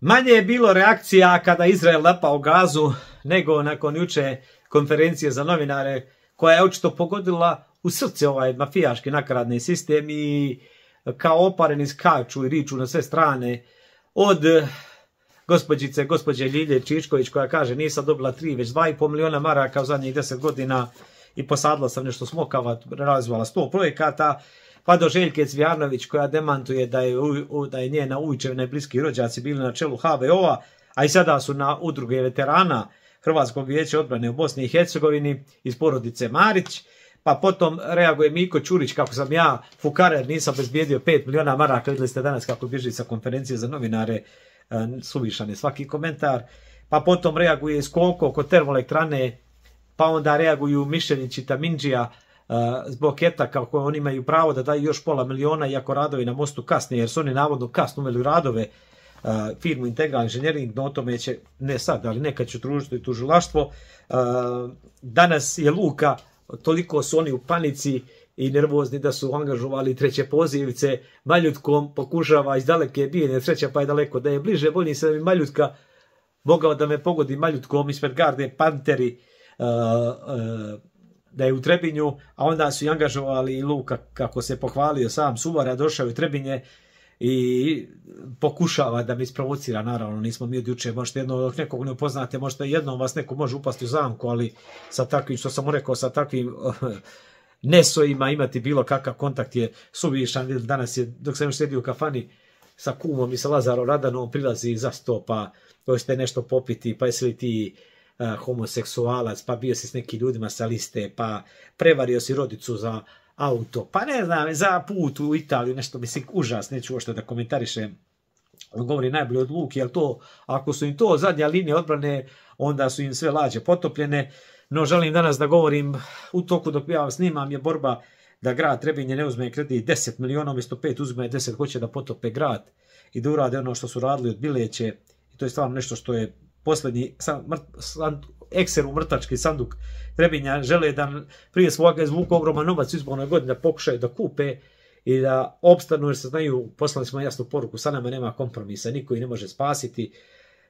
Manje je bilo reakcija kada Izrael napao Gazu nego nakon juče konferencije za novinare koja je očito pogodila u srce ovaj mafijaški nakaradni sistem i kao opareni skaču i riču na sve strane od gospođe Ljilje Čičković koja kaže nisam dobila 3 već 2,5 miliona maraka u zadnjih 10 godina i posadila sam nešto smokava, razvala 100 projekata, pa do Željke Cvijanović koja demantuje da je njena ujčevina i bliski rođaci bili na čelu HVO-a, a i sada su na udruge veterana Hrvatskog vijeća odbrane u Bosni i Hercegovini iz porodice Marić. Pa potom reaguje Miko Ćurić kako sam ja fukarer, nisam bezbijedio 5 miliona maraka, vidjeli ste danas kako bježi sa konferencije za novinare, suvišan je svaki komentar. Pa potom reaguje Skoko oko termoelektrane, pa onda reaguju Mišeljić i Tamindžija zbog ETA kako oni imaju pravo da daju još pola miliona iako radovi na mostu kasne, jer su oni navodno kasno uveli radove firmu Integral Inženjering, no o tome će ne sad, ali nekad ću družiti tužilaštvo. Danas je Luka, toliko su oni u panici i nervozni da su angažovali treće pozivce, Maljutkom pokušava iz daleke bijene, sreća pa je daleko, da je bliže, bolji se da bi Maljutka mogao da me pogodi Maljutkom ispred garde Panteri, da je u Trebinju, a onda su i angažovali i Luka, kako se pohvalio sam Suvara, došao u Trebinje i pokušava da me isprovocira, naravno nismo mi od juče, možete jedno dok nekog ne upoznate, možete jednom vas neko može upasti u zamku, ali sa takvim, što sam mu rekao, sa takvim nesojima imati bilo kakav kontakt je suvišan. Danas je, dok sam još sedio u kafani sa kumom i sa Lazarom Radanom, prilazi za sto, pa hoćete nešto popiti, pa jesi li ti homoseksualac, pa bio si s nekim ljudima sa liste, pa prevario si rodicu za auto, pa ne znam, za put u Italiju, nešto mislim užas, neću uopšte da komentarišem. On govori najbolje od Luki, jer to, ako su im to zadnja linija odbrane, onda su im sve lađe potopljene. No želim danas da govorim, u toku dok ja snimam je borba da grad Trebinje ne uzme kredit 10 miliona, umjesto 5 uzme 10, hoće da potope grad i da urade ono što su radili od Bileće. I to je stvarno nešto što je posljednji ekser u mrtački sanduk Trebinja. Žele da prije svoga izvuku ogroman novac u izbornoj godini, da pokušaju da kupe i da opstanu, jer se znaju, poslali smo jasnu poruku, sa nama nema kompromisa, niko ih ne može spasiti.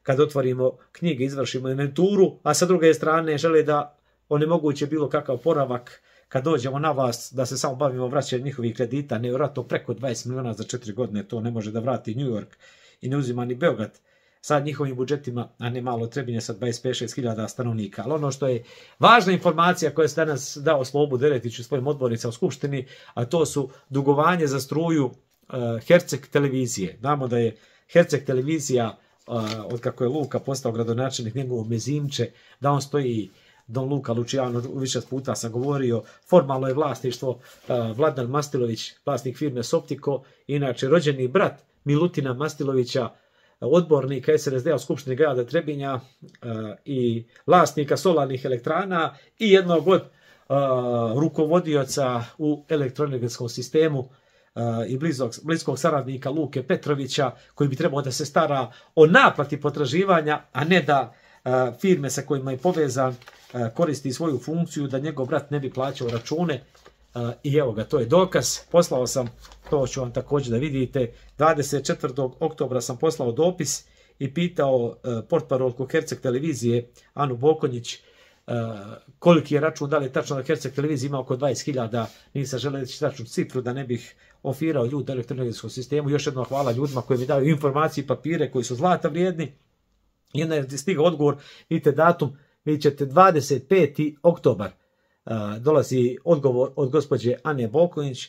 Kad otvorimo knjige, izvršimo inventuru, a sa druge strane žele da onemoguće bilo kakav poravak kad dođemo na vas, da se samo bavimo vraćanjem njihovih kredita, nevjerojatno preko 20 miliona za 4 godine, to ne može da vrati New York i ne uzima ni Beograd sa njihovim budžetima, a ne malo Trebinje sa 25-6 hiljada stanovnika. Ali ono što je važna informacija koja se danas dao Slobu Deretiću svojim odbornicama u Skupštini, a to su dugovanje za struju Herceg televizije. Znamo da je Herceg televizija, od kako je Luka postao gradonačelnik, njegovo mezimče, da on stoji, Don Luka Lučijano, više puta sam govorio, formalno je vlasništvo Vladan Mastilović, vlasnik firme Soptiko, inače rođeni brat Milutina Mastilovića, odbornika SNSD-a u Skupštini grada Trebinja i vlasnika solarnih elektrana i jednog od rukovodioca u elektroenergetskom sistemu i bliskog saradnika Luke Petrovića, koji bi trebao da se stara o naplati potraživanja, a ne da firme sa kojima je povezan koristi svoju funkciju da njegov brat ne bi plaćao račune. I evo ga, to je dokaz. Poslao sam, to ću vam također da vidite, 24. oktobra sam poslao dopis i pitao portparolku Herceg televizije Anu Bokonjić koliki je račun, da li je tačno da Herceg televizija ima oko 20.000, nisam želeo reći tačnu cifru da ne bih ofirao ljudi u elektroenergetskom sistemu. Još jednom hvala ljudima koji mi daju informacije i papire koji su zlata vrijedni. I onda je stigao odgovor, vidite datum, vidjet ćete 25. oktobar. Dolazi odgovor od gospođe Ane Bokonjić.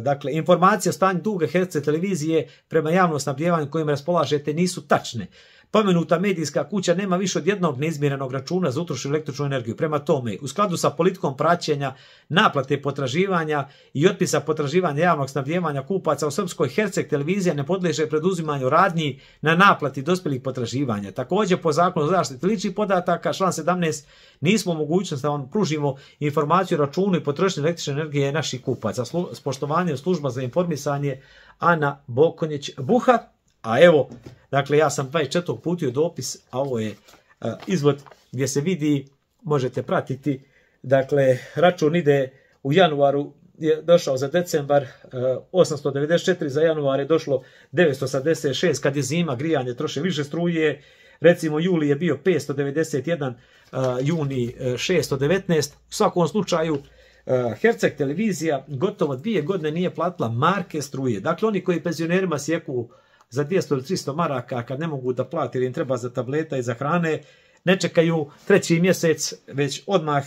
Dakle, informacije o stanju duga Herceg televizije prema javnom snabdijevanju kojim raspolažete nisu tačne. Pomenuta medijska kuća nema više od jednog neizmjerenog računa za utrošenu električnu energiju. Prema tome, u skladu sa politikom praćenja, naplate potraživanja i otpisa potraživanja javnog snabdijevanja kupaca u Srpskoj, Herceg televizija ne podliježe preduzimanju radnji na naplati dospjelih potraživanja. Također, po zakonu o zaštiti ličnih podataka, član 17, nismo u mogućnosti da vam pružimo informaciju o računu i potrošnji električne energije naših kupaca. S poštovanjem služba za informisanje Ana Bokonjić-Buha. A evo, dakle, ja sam 24. uputio dopis, a ovo je izvod gdje se vidi, možete pratiti, dakle, račun ide u januaru je došao za decembar, 894 za januar je došlo 986, kad je zima, grijanje troše više struje, recimo juli je bio 591, juni 619, u svakom slučaju Herceg televizija gotovo 2 godine nije platila marke struje. Dakle, oni koji penzionerima sjeku za 200 ili 300 maraka kad ne mogu da plati ili im treba za tableta i za hrane, ne čekaju 3. mjesec, već odmah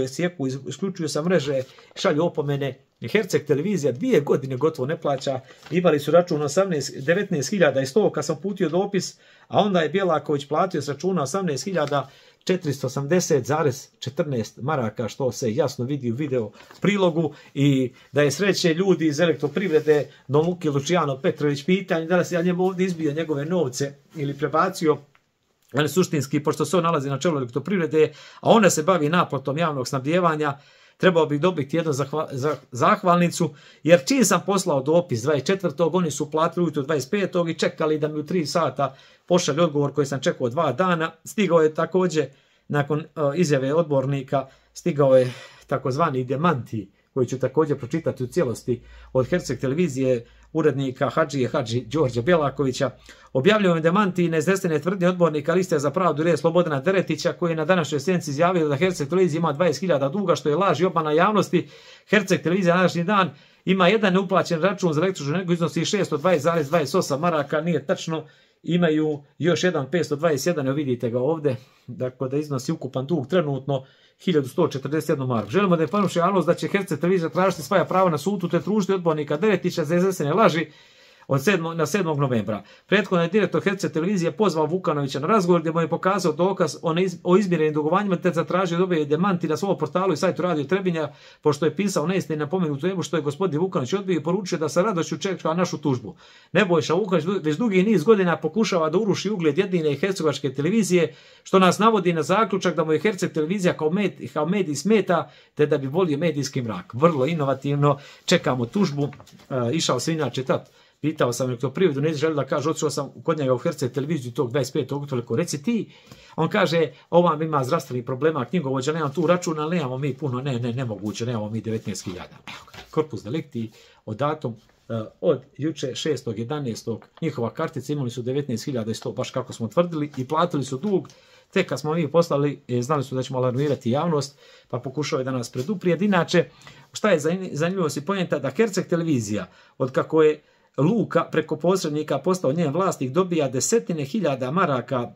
sjeku, isključuju sa mreže, šalju opomene. Herceg televizija 2 godine gotovo ne plaća, imali su račun 19.100 kad sam putio dopis, a onda je Bjelaković platio s računa 18.480,14 maraka, što se jasno vidi u video prilogu, i da je sreće ljudi iz Elektroprivrede, Don Luki Luciano Petrović, pitanje da li se ja njemu ovdje izbio njegove novce ili prebacio, ali suštinski, pošto se on nalazi na čelu Elektroprivrede, a ona se bavi naplatom javnog snabdijevanja, trebao bih dobiti jednu zahvalnicu, jer čim sam poslao dopis 24. oni su platili ujutro 25. i čekali da mi u 3 sata pošalje odgovor koji sam čekao 2 dana. Stigao je također, nakon izjave odbornika, stigao je takozvani demanti, koji ću također pročitati u cijelosti, od Herceg televizije, urednika Hadži Đorđa Bjelakovića. Objavljujem demanti neiznesene tvrdnje odbornika Liste za pravdu i red Slobodana Deretića, koji je na današnjoj sjednici izjavio da Herceg televizija ima 20.000 duga, što je laž i obmana javnosti. Herceg televizija na današnji dan ima jedan neuplaćen račun za električnu energiju, iznosi 620,28 maraka, nije tačno. Imaju još jedan 521, vidite ga ovdje, dakle da iznosi ukupan dug trenutno 1141 marku. Želimo da je informiše javnost da će Herceg televizija tražiti svoja prava na sudu te tužiti odbornika Deretića za iznesene laži na 7. novembra. Prethodno je direktor Herceg televizije pozvao Vukanovića na razgovor gdje mu je pokazao dokaz o izmjerenim dugovanjima te zatražio da dobije demanti na svom portalu i sajtu Radio Trebinja, pošto je pisao neistine na pomenutu temu, što je gospodin Vukanović odbio i poručio da sa radošću čeka našu tužbu. Nebojša Vukanović već dugi niz godina pokušava da uruši ugled jedine hercegovačke televizije, što nas navodi na zaključak da mu je Herceg televizija kao medij smeta, te da bi volio medijski mrak. Vrlo inovativno, čekamo tužbu. Išao se inače tad. Pitao sam Elektroprivredu, ne želi da kaže, otišao sam kod njega u Herceg televiziju tog 25. toliko, reci ti. On kaže, ovam ima zdravstvenih problema, knjigovođa, nemam tu račun, ali nemamo mi puno, nemoguće, nemamo mi 19.000. Korpus delikti, od datum, od juče 6.11. njihova kartica, imali su 19.100, baš kako smo tvrdili, i platili su dug. Tek kad smo mi poslali, znali su da ćemo alarmirati javnost, pa pokušao je da nas preduprijed. Inače, šta je zanimljivo si pojenta, da Herceg televizija, od kako je Luka preko posrednika postao njen vlasnik, dobija 10.000 maraka,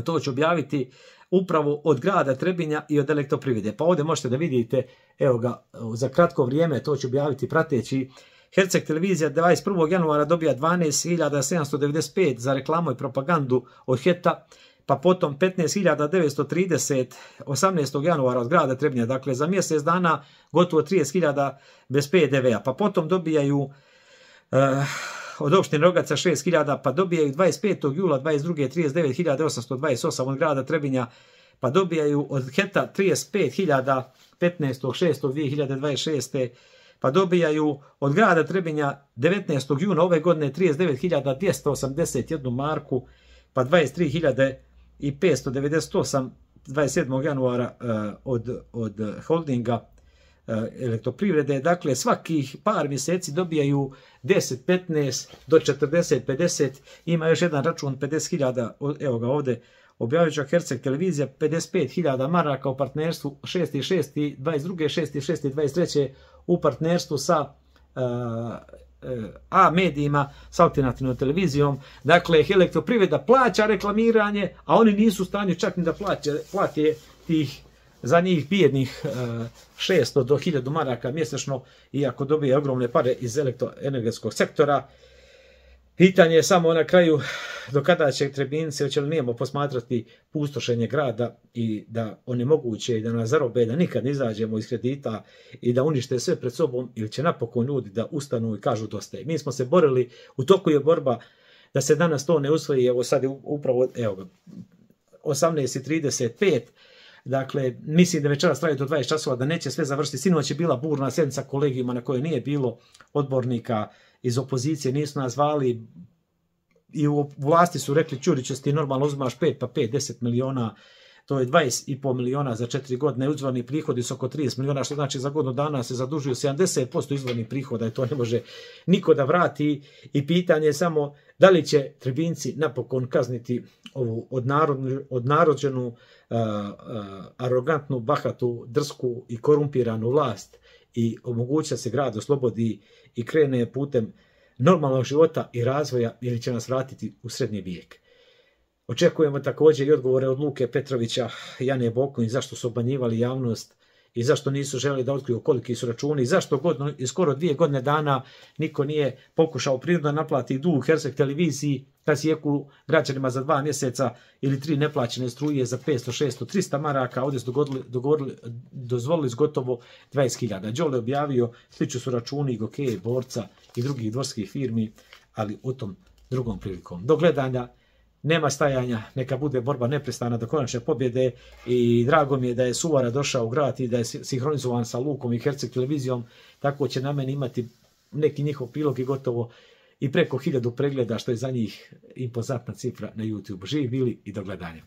to ću objaviti, upravo od grada Trebinja i od Elektroprivrede. Pa ovdje možete da vidite, evo ga, za kratko vrijeme, to ću objaviti prateći. Herceg televizija 21. januara dobija 12.795 za reklamu i propagandu od HET-a, pa potom 15.930 18. januara od grada Trebinja, dakle za mjesec dana gotovo 30.000 bez PDV-a, pa potom dobijaju od opštine Rogaca 6.000, pa dobijaju 25. jula 22. 39.828 od grada Trebinja, pa dobijaju od HET-a 35.000 15.6.2026. pa dobijaju od grada Trebinja 19. juna ove godine 39.281 marku, pa 23.598 27. januara od holdinga Elektroprivrede. Dakle, svakih par mjeseci dobijaju 10, 15 do 40, 50. Ima još jedan račun 50.000, evo ga ovdje, objavit ću Herceg televizija, 55.000 maraka u partnerstvu 6.6.22, 6.6.23 u partnerstvu sa A medijima, s alternativnom televizijom. Dakle, Elektroprivreda plaća reklamiranje, a oni nisu u stanju čak ni da plate tih za njih bijednih 600 do 1000 maraka mjesečno, iako dobije ogromne pare iz elektroenergetskog sektora. Pitanje je samo na kraju do kada će Trebinci, hoće li nijemo posmatrati pustošenje grada i da onemoguće i da nas zarobe, da nikad ne izađemo iz kredita i da unište sve pred sobom, ili će napokon ljudi da ustanu i kažu dosta. Mi smo se borili, u toku je borba da se danas to ne usvoji, evo sad je upravo 18.35. Dakle, mislim da večeras traje do 20 časova, da neće sve završiti. Sinoć je bila burna sjednica kolegijuma na kojoj nije bilo odbornika iz opozicije, nisu nas zvali i u vlasti su rekli, Ćuriću, ti normalno uzimaš 5 pa 5, 10 miliona, to je 20,5 miliona za 4 godine, izvorni prihodi su oko 30 miliona, što znači za godinu dana se zadužuju 70% izvornih prihoda i to ne može niko da vrati i pitanje je samo da li će Trebinjci napokon kazniti ovu odnarođenu, arogantnu, bahatu, drsku i korumpiranu vlast i omogući da se grad oslobodi i krene putem normalnog života i razvoja ili će nas vratiti u srednji vijek. Očekujemo također i odgovore od Luke Petrovića i Jane Boković zašto su obmanjivali javnost i zašto nisu želeli da otkriju koliki su računi i zašto skoro 2 godine dana niko nije pokušao prinudno naplati dug Herzeg televiziji kad sjeku građanima za 2 mjeseca ili 3 neplaćene struje za 500, 600, 300 maraka, ovdje su dozvolili gotovo 20.000. Đole objavio, sliču su računi Gokeje, Borca i drugih dvorskih firmi, ali u tom drugom prilikom. Do gledanja, nema stajanja, neka bude borba neprestana do konačne pobjede i drago mi je da je Suvara došao u grad i da je sinhronizovan sa Lukom i Herzeg televizijom, tako će na meni imati neki njihov prilog i gotovo i preko 1000 pregleda, što je za njih impozantna cifra na YouTube. Živi bili i do gledanja.